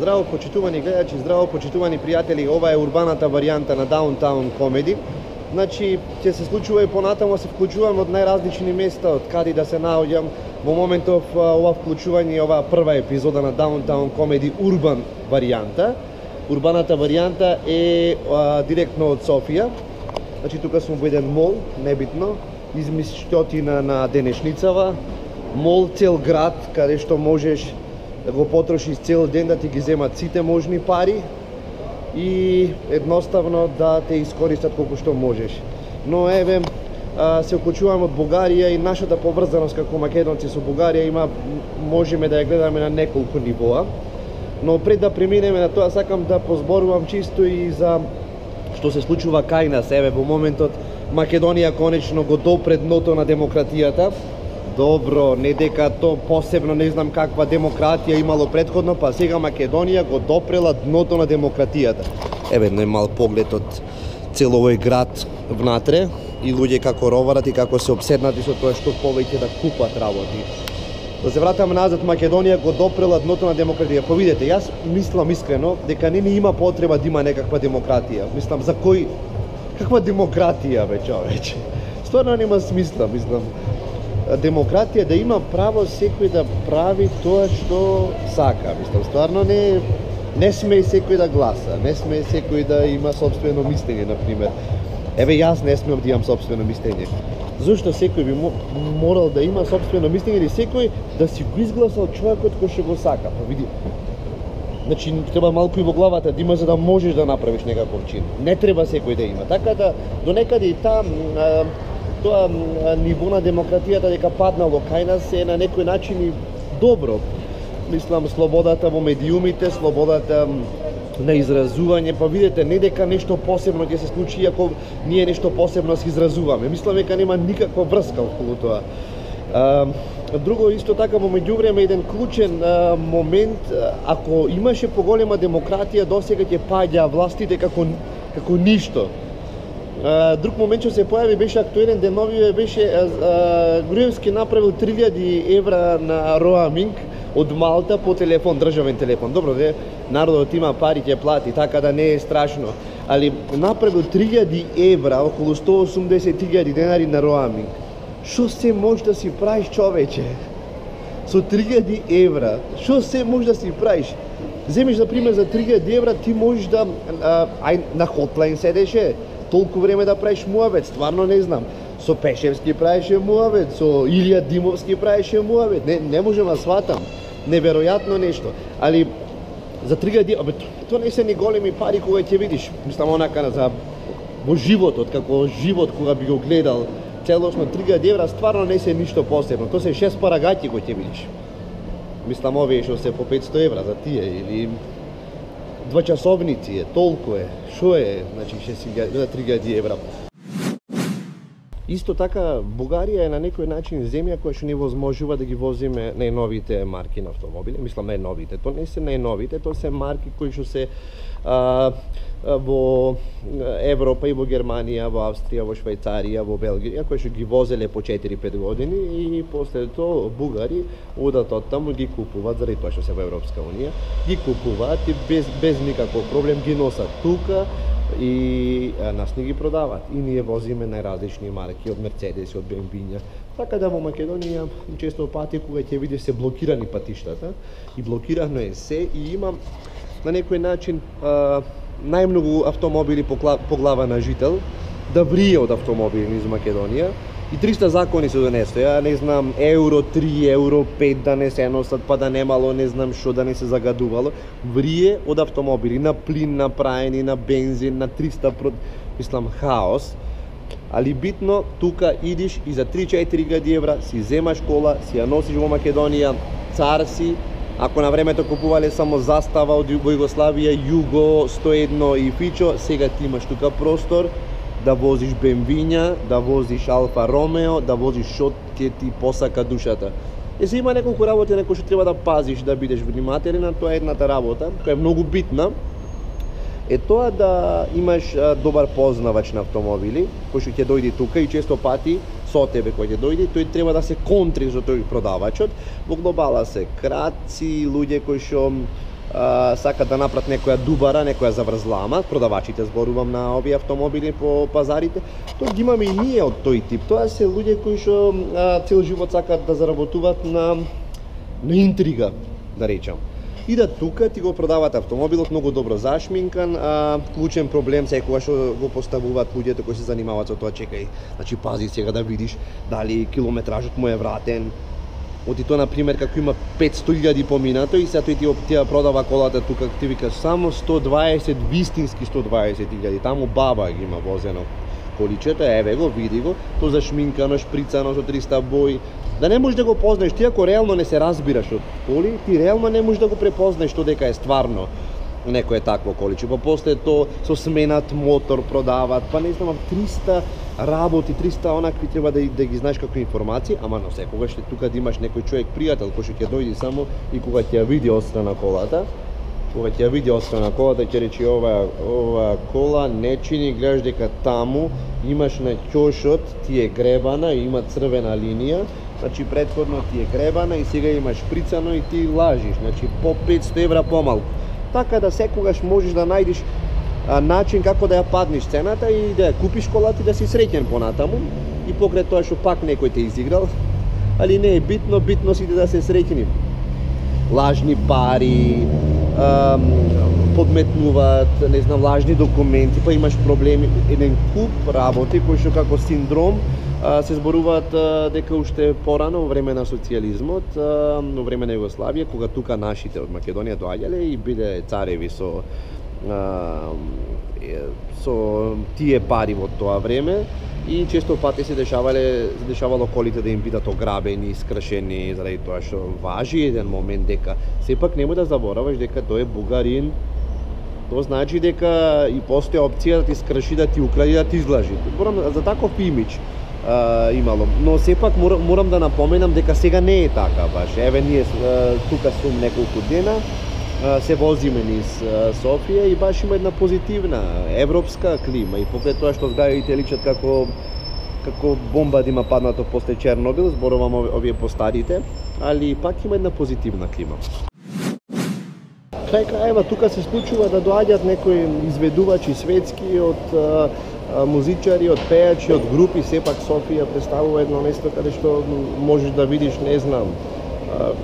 здраво почитувани гледачи, здраво почитувани пријатели, ова е урбаната варијанта на Downtown Comedy. Значи, ќе се случува и понатамо, се вклучувам од најразлични места, од каде да се наоѓам. Во моментов ова вклучување, ова прва епизода на Downtown Comedy урбан варијанта. Урбаната варијанта е директно од Софија. Значи, тука сум во еден мол, небитно, измиштотина на денешницава. Мол цел град, каде што можеш да го потрошиш цел ден, да ти ги земат сите можни пари и едноставно да те искористат колку што можеш. Но еве, се вклучувам од Бугарија и нашата поврзаност како македонци со Бугарија можеме да ја гледаме на неколку нивоа. Но пред да преминеме на тоа, сакам да позборувам чисто и за што се случува кај нас. Еве, во моментот Македонија конечно го допре дното на демократијата. Добро, не дека то посебно не знам каква демократија имало претходно, па сега Македонија го допрела дното на демократијата. Еве, еден мал поглед од цел овој град внатре и луѓе како роварат и како се обседнати со тоа што повеќе да купат работи. Да се вратам назад, Македонија го допрела дното на демократија. Повидете, јас мислам искрено дека не ни има потреба да има некаква демократија. Мислам, за кој... Каква демократија, бе, човече? Стварно нема смисла, мислам. Демократија да има право секој да прави тоа што сака. Мислам, стварно не сме секој да гласа, не сме секој да има собствено мислење, например. Еве, јас не смеам да имам собствено мислење. Зошто секој би морал да има собствено мислење или секој да си го изгласал човекот кој што го сака? Па види. Значи, треба малку и во главата да има за да можеш да направиш некаков чин. Не треба секој да има. Така да, до некаде и там, тоа ниво на демократијата дека паднало кај нас е на некој начин и добро. Мислам, слободата во медиумите, слободата на изразување, па видите, не дека нешто посебно ќе се случи ако ние нешто посебно се изразуваме. Мислам дека нема никаква врска околу тоа. Друго исто така во меѓувреме еден клучен момент, ако имаше поголема демократија, досега ќе паѓа властите како ништо. Друг момент што се појави беше актуелен деновиве беше Груевски направил 3000 евра на роаминг од Малта по телефон, државен телефон. Добро, народот има пари, ќе плати, така да не е страшно. Али направил 3000 евра, околу 180.000 денари на роаминг. Што се може да си правиш, човече? Со 3000 евра, што се може да си правиш? Земеш, за пример, за 3000 евра ти можеш да... на хотлайн седеше, толку време да правиш муавет, стварно не знам. Со Пешевски правеше муавет, со Илија Димовски правеше муавет. Не можем да сватам. Неверојатно нешто. Али за 3000 евра, тоа не се ни големи пари кога ќе видиш. Мислам, онака за во животот, како живот кога би го гледал целосно 3000 евра, стварно не се ништо посебно. Тоа се 6 парагаќи кои ќе видиш. Мислам, овие што се по 500 евра за тие, или 2 часовници е, толку е. Шо е, значи 3000 евра. Исто така, Бугарија е на некој начин земја која што ни возможува да ги возиме најновите марки на автомобили. Мислам, најновите. Тоа не се најновите, тоа се марки кои што се во Европа и во Германија, во Австрија, во Швајцарија, во Белгија, кои што ги возеле по 4-5 години и после тоа бугари одат од таму ги купуваат, заради тоа што се во Европска унија, ги купуваат и без никаков проблем ги носат тука и нас не ги продаваат. И ние возиме најразлични марки од Мерцедеси, од BMW. Така да во Македонија често пати кога ќе видиш се блокирани патиштата и блокирано е се и има на некој начин најмногу автомобили по глава на жител да врие од автомобили низ Македонија и 300 закони се донесоа. Ја не знам, евро 3, евро 5 да не се носат, па да немало не знам што да не се загадувало. Врие од автомобили на плин, на праени, на бензин, на 300 мислам хаос. Али битно, тука идиш и за 3-4 евра си земаш кола, си ја носиш во Македонија, цар си. Ако на времето купувале само застава од Југославија, Југо, 101 и Фичо, сега ти имаш тука простор да возиш BMW-ња, да возиш Алфа Ромео, да возиш што ќе ти посака душата. Се има неколку работи на кои што треба да пазиш, да бидеш внимателен, тоа е едната работа, која е многу битна. Е тоа да имаш добар познавач на автомобили, кој што ќе дојде тука и често пати со тебе кој ќе дојде, тој треба да се контри со тој продавачот. Во глобала се крадци, луѓе кои што сакат да направат некоја дубара, некоја заврзлама, продавачите зборувам на овие автомобили по пазарите, тоа ги имаме и ние од тој тип. Тоа се луѓе кои што цел живот сакат да заработуваат на интрига, да речам. Идат тука, ти го продаваат автомобилот многу добро зашминкан, клучен проблем секогаш што го поставуваат луѓето кои се занимаваат со тоа, чекај, значи пази сега да видиш дали километражот му е вратен. Оти тоа, например, како има 500.000 поминато и сега тој ти продава колата тука, ти викаш само 120, вистински 120.000, таму баба ги има возено количето, еве го, види го, тоа зашминкано, шприцано со 300 бои. Да не можеш да го познаеш, ти ако реално не се разбираш од коли, ти реално не можеш да го препознаеш што дека е стварно некое такво количе. Па после тоа со сменат мотор продаваат, па не знам, 300 работи, 300 онакви треба да ги знаеш како информации, ама но секогаш тука да имаш некој човек пријател кој ќе дојде само и кога ќе ја види отстрана колата, ќе рече ова кола не чини, гледаш дека таму имаш на ќошот, ти е гребана и има црвена линија, значи претходно ти е гребана и сега имаш шприцано и ти лажиш, значи по 500 евра помалку. Така да секогаш можеш да најдеш начин како да ја паднеш цената и да ја купиш колата и да си среќен понатаму и покрај тоа што пак некој те изиграл, али не е битно, битно сите да се среќни. Лажни пари, подметнуваат, не знам, лажни документи, па имаш проблеми, еден куп работи кои што како синдром се зборуваат дека уште порано во време на социјализмот, во време на Југославија, кога тука нашите од Македонија доаѓале и биле цареви со тие пари во тоа време и често пати се дешавало колите да им бидат ограбени, искршени, заради тоа што важи еден момент дека сепак немој да забораваш дека тој е бугарин. Тоа значи дека и постои опција да ти скрши, да ти укради, да ти излажи. За таков имидж имало, но сепак морам да напоменам дека сега не е така баш. Еве ние тука сум неколку дена, се возиме низ Софија и баш има една позитивна европска клима и покрај тоа што зградите личат како бомба да има паднато после Чернобил, зборувам овие постарите, али пак има една позитивна клима. Крај крајева тука се случува да доаѓаат некои изведувачи светски од музичари, од пејачи, од групи, сепак Софија представува едно место каде што можеш да видиш, не знам,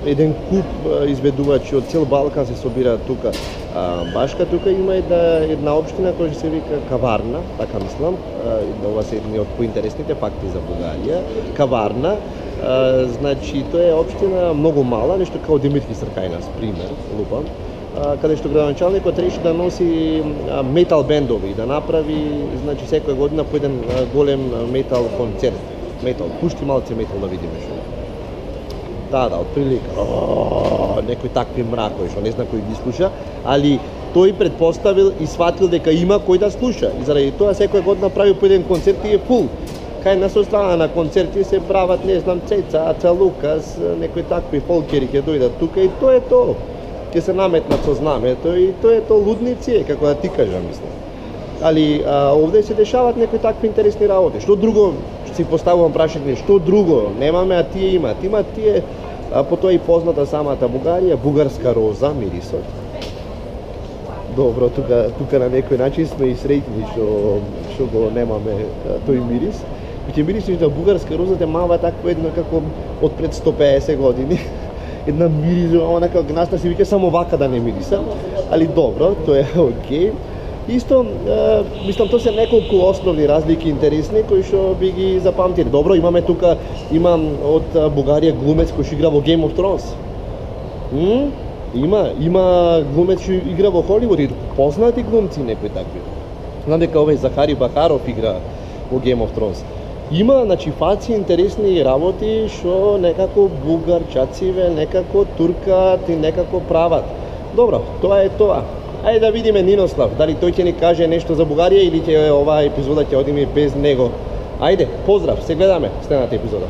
еден куп изведувачи од цел Балкан се собираат тука. Башка тука има една општина која се вика Каварна, така мислам, ова се едни од поинтересните факти за Бугарија. Каварна, значи тоа е општина многу мала, нешто како Димитри Сркајнас, пример, лупам, каде што градоначалникот реши да носи метал бендови, да направи, значи секоја година по еден голем метал концерт. Метал, пушти малце метал да видиме што. Да, отприлика. Некои такви мракови што не знам кој ги слуша, али тој предпоставил и сватил дека има кој да слуша. И заради тоа секоја година прави по еден концерт и е фул. Кај на страна на концерти се прават, не знам, Цеца, Аца Лукас, некои такви фолкери ќе дојдат тука и тоа е тоа. Ќе се наметнат со знамето и тоа е тоа, лудници, како да ти кажам, мислам. Али овде се дешаваат некои такви интересни работи. Што друго, си поставувам прашање, што друго немаме, а тие имаат? Имаат тие, потоа и позната самата Бугарија, бугарска роза, мирисот. Добро, тука на некој начин сме и среќни што го немаме тој мирис. Ќе мирисиш на бугарска роза, те мава такво едно како од пред 150 години. Една мириза, онака гнасна, си вика само вака да не мириса, али добро, тоа е окей. Исто, мислам, тоа се неколку основни разлики интересни кои што би ги запамтили. Добро, имаме тука, имам од Бугарија глумец кој што игра во Game of Thrones. Има глумец што игра во Холивуд и познати глумци некои такви. Знам дека овој Захари Бахаров игра во Game of Thrones. Има, значи, фаци интересни работи што некако бугарчациве, некако туркат и некако прават. Добро, тоа е тоа. Ајде да видиме Нинослав, дали тој ќе ни каже нешто за Бугарија или ќе оваа епизода ќе одиме без него. Ајде, поздрав, се гледаме следната епизода.